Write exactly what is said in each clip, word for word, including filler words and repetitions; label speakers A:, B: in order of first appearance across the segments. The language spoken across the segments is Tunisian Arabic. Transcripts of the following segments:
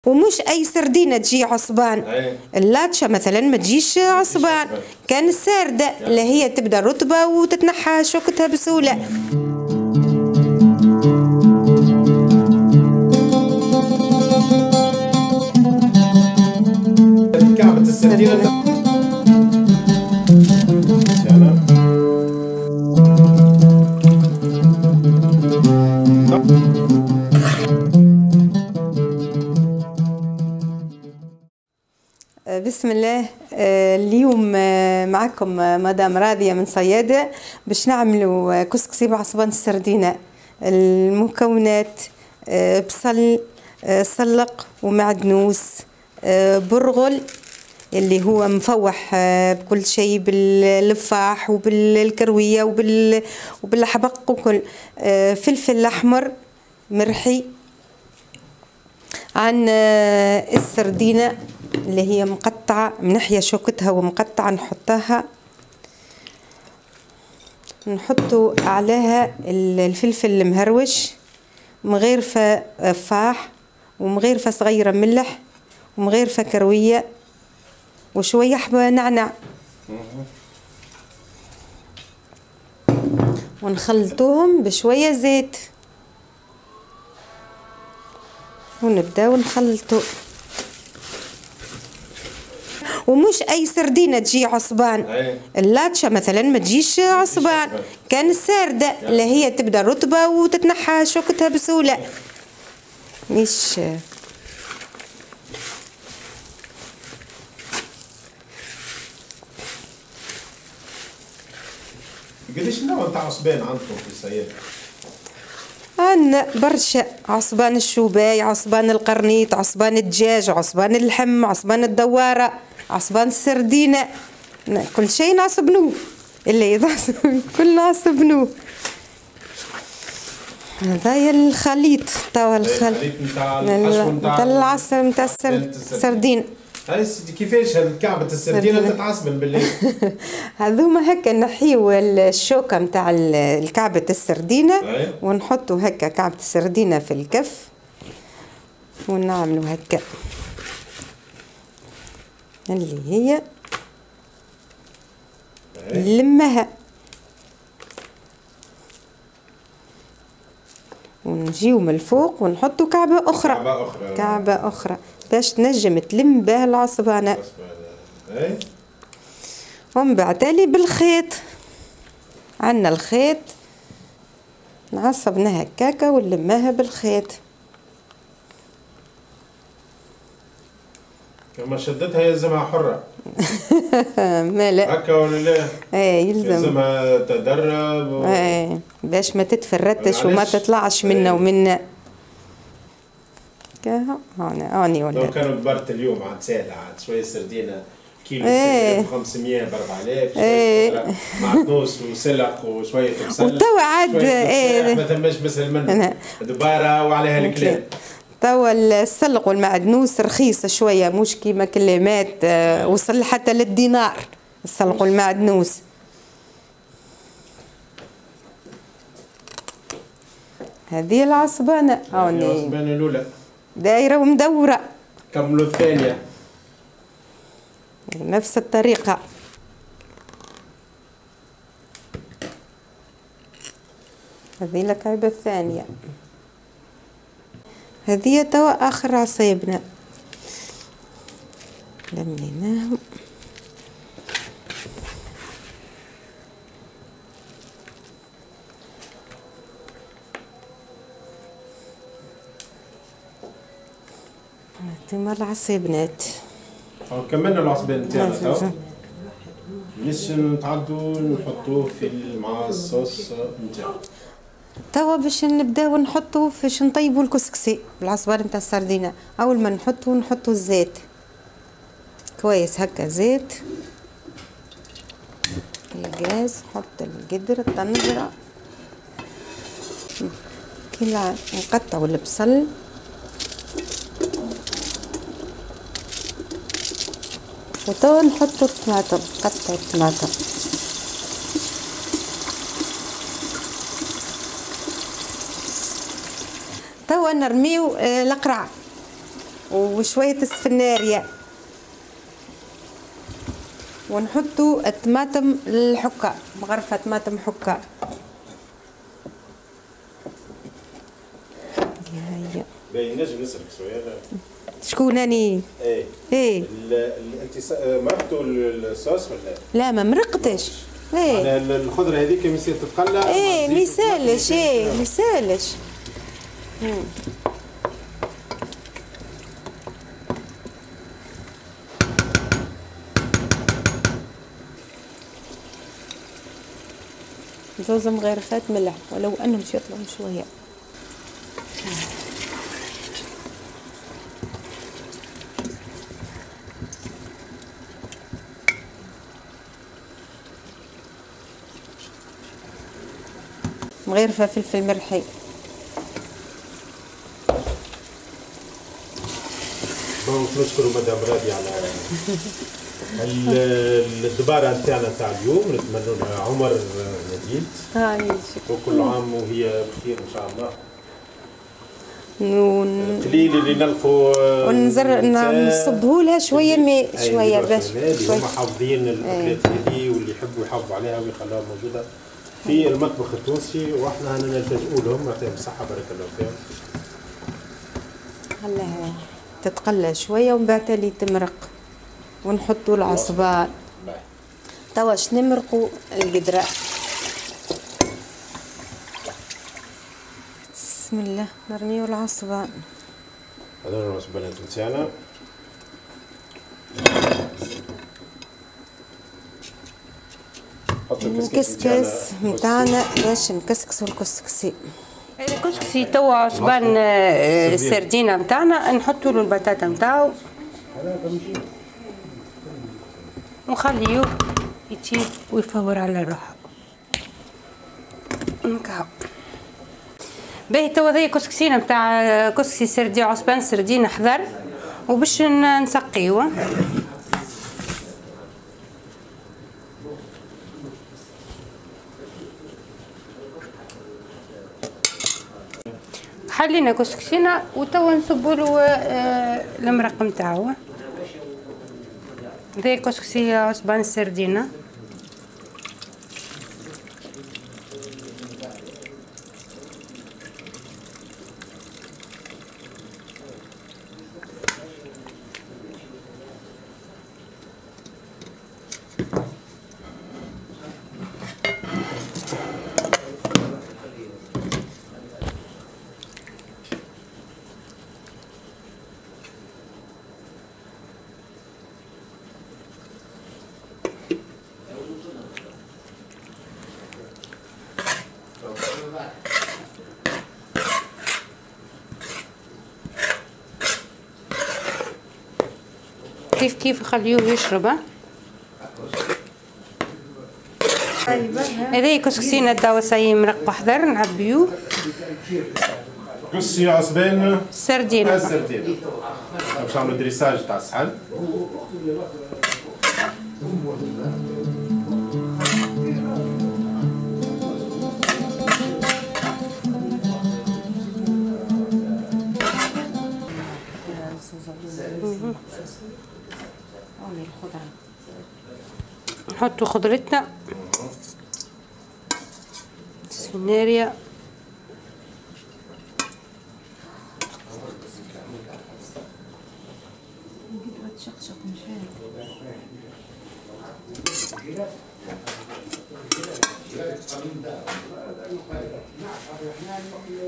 A: ومش اي سردينه تجي عصبان. اللاتشا مثلا ما تجيش عصبان، كان السارده اللي هي تبدا رطبه وتتنحى شوكتها بسهولة.
B: كعبة السردينه
A: بسم الله. اليوم معكم مدام راضية من صيادة باش نعملوا كسكسي بعصبان السردينة. المكونات بصل، سلق ومعدنوس، برغل اللي هو مفوح بكل شيء، باللفاح وبالكروية وبال وبالحبق وكل، فلفل أحمر مرحي، عن السردينة اللي هي مقطعة منحية شوكتها ومقطعة، نحطها نحطو عليها الفلفل المهروش، مغيرفة فاح ومغيرفة صغيرة ملح ومغيرفة كروية وشوية حبة نعناع، ونخلطوهم بشوية زيت ونبداو نخلطو. ومش اي سردينه تجي عصبان. اللاتشا مثلا ما تجيش عصبان، كان السارده اللي هي تبدا رطبه وتتنحى شوكتها بسهولة. مش
B: قداش نوع نتاع عصبان عندكم في الصيادة؟
A: عندنا برشا، عصبان الشوباي، عصبان القرنيط، عصبان الدجاج، عصبان اللحم، عصبان الدواره، عصبان السردينه، كل شيء نعصبنوه اللي يتعصب كل نعصبنوه. هذايا الخليط توا، الخليط
B: نتاع الحشو
A: نتاع العصب نتاع السردين.
B: هاي كيفاش كعبة السردينة تتعصبن بالليل؟
A: هذوما هكا نحيو الشوكة نتاع الكعبة السردينة ونحطو هكا كعبة السردينة في الكف ونعملو هكا اللي هي نلمها ونجيو من الفوق ونحطو كعبة أخرى،
B: كعبة أخرى،
A: كعبة أخرى باش تنجم تلم بها العصبانة. ومن بعد تالي بالخيط، عندنا الخيط نعصبناها هكاكا ونلماها بالخيط.
B: كما شدتها يلزمها حرة.
A: مالا
B: هكا ولا لا؟
A: ايه يلزم
B: يلزمها تدرب و...
A: ايه باش ما تتفرتش وما تطلعش منا ومنا. كاها هاني هاني ولا
B: لو كانوا كبرت اليوم عاد ساهلة، عاد شوية سردينة كيلو
A: ايه
B: خمسمية ب أربعة آلاف،
A: ايه
B: معدنوس وسلق وشوية بصل
A: وتوا عاد ايه
B: ما ثماش مثل منه دبارة وعليها الكلام.
A: توا السلق والمعدنوس رخيصة شوية، مش كيما كلمات وصل حتى للدينار السلق والمعدنوس. هذه العصبانة
B: هوني، العصبانة الأولى
A: دايرة ومدورة.
B: كملوا الثانية
A: نفس الطريقة. هذه الكعبة الثانية. هذه توا آخر عصيبنا لميناهم. هذوما العصيبنات.
B: كملنا العصبان نتاعنا توا، باش نتعدو نحطوه في مع الصوص نتاعو.
A: توا باش نبداو نحطو فاش نطيبو الكسكسي بالعصبان نتاع السردينه. اول ما نحطو نحطو الزيت كويس هكا، زيت الغاز، نحط القدر الطنجره كي نقطعو البصل وتوا نحطو الطماطم، نقطعو الطماطم. توا نرميو القرع، وشوية السفنارية، ونحطوا الطماطم الحكة، مغرفة طماطم حكة. هيا
B: باهي نجم نسألك سؤال.
A: شكون اني؟
B: ايه
A: ايه
B: انت مرقتوا الصوص ولا؟
A: لا ما مرقتش. ايه
B: الخضرة هذيك ميسال تتقلى؟
A: ايه ميسالش، ايه ميسالش. زوز مغرفات ملح، ولو انهم باش يطلعوا شوية. مغرفه فلفل مرحي.
B: donc نشكروا مدام راضي على الدبارة نتاعنا نتاع اليوم، نتمنوا لها عمر مديد وكل عام وهي بخير ان شاء الله.
A: ون...
B: قليل اللي نلقوا
A: ونزر نصبه لها شوية ماء شوية باش
B: اللي هما حافظين الاكلات هذه واللي يحبوا يحافظوا عليها ويخلوها موجودة في المطبخ التونسي، واحنا هنا نلتجئوا لهم، يعطيهم الصحة بارك الله فيهم.
A: خليها تتقلى شوية ومن بعد تالي تمرق ونحطوا العصبان. توا باش نمرقوا القدرة. بسم الله، نرميو العصبان.
B: هذول العصبانات نتاعنا.
A: الكسكس نتاعنا باش نكسكسو الكسكسي.
C: الكسكسي توا عصبان السردينه نتاعنا نحطوا له البطاطا نتاعو ونخليه يطيب ويفور على روحه. نكاو باهي. توا ذي كسكسينا نتاع كسكسي سردين عصبان سردين حضر، وباش نسقيوه. حلينا كسكسينا وتوا نصبوا له المرق نتاعو. ذي كسكسي عصبان السردينه. كيف كيف خليوه يشرب. هذا كسكسينا توا ساي مرق وحضر نعبيوه.
B: كسكسي عصبان
C: السردينه.
B: السردينه باش نعملو dressage تاع الصحن.
C: نحطو خضرتنا السفناريا،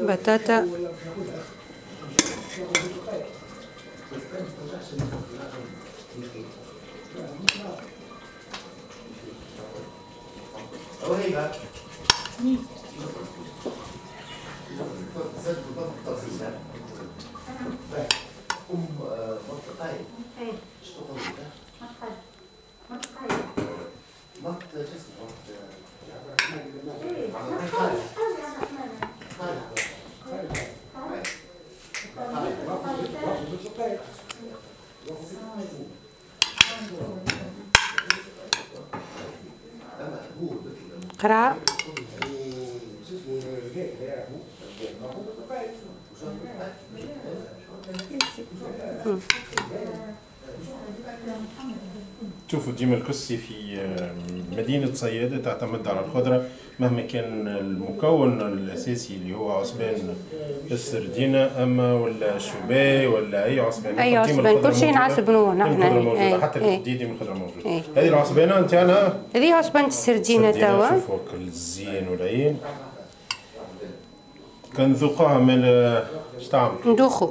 C: بطاطا، قرع،
B: تشوفوا ديما الكسكسي في مدينة صيادة تعتمد على الخضرة مهما كان المكون الأساسي اللي هو عصبان السردينة أما ولا الشوباي ولا أي عصبان،
C: أي عصبان كل شيء نعصبنوه نحن،
B: الخضرة حتى الجديد ديما الخضرة موجودة. هذه العصبانة نتاعنا،
C: هذه عصبانة السردينة توا،
B: شوفوا الزين والعين كنذوقوها من اش تعمل؟
C: ندوخو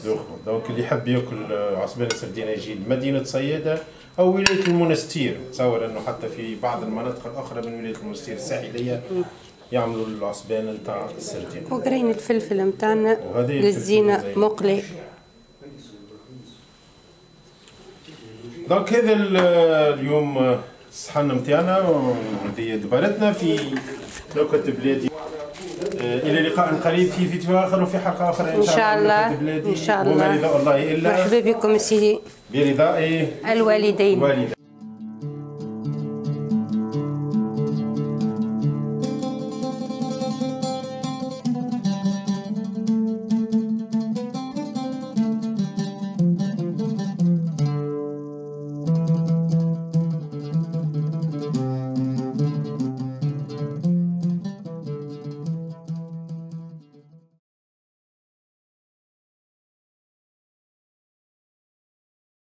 B: دوخو. donc اللي يحب ياكل عصبان السردينة يجي لمدينة صيادة أو ولاية المنستير، تصور أنه حتى في بعض المناطق الأخرى من ولاية المنستير الساحلية يعملوا العصبان نتاع السردينة.
C: وقرين الفلفل نتاعنا للزينة مقلي.
B: donc هذا اليوم الصحن نتاعنا وهذه دبرتنا في نكت بلادي. الى لقاء قريب في فيديو اخر وفي حلقة اخرى ان شاء الله.
C: ان شاء الله.
B: وما رضاء الله الا
C: مرحبا بكم سيدي
B: برضاء
C: الوالدين.
B: الوالدين.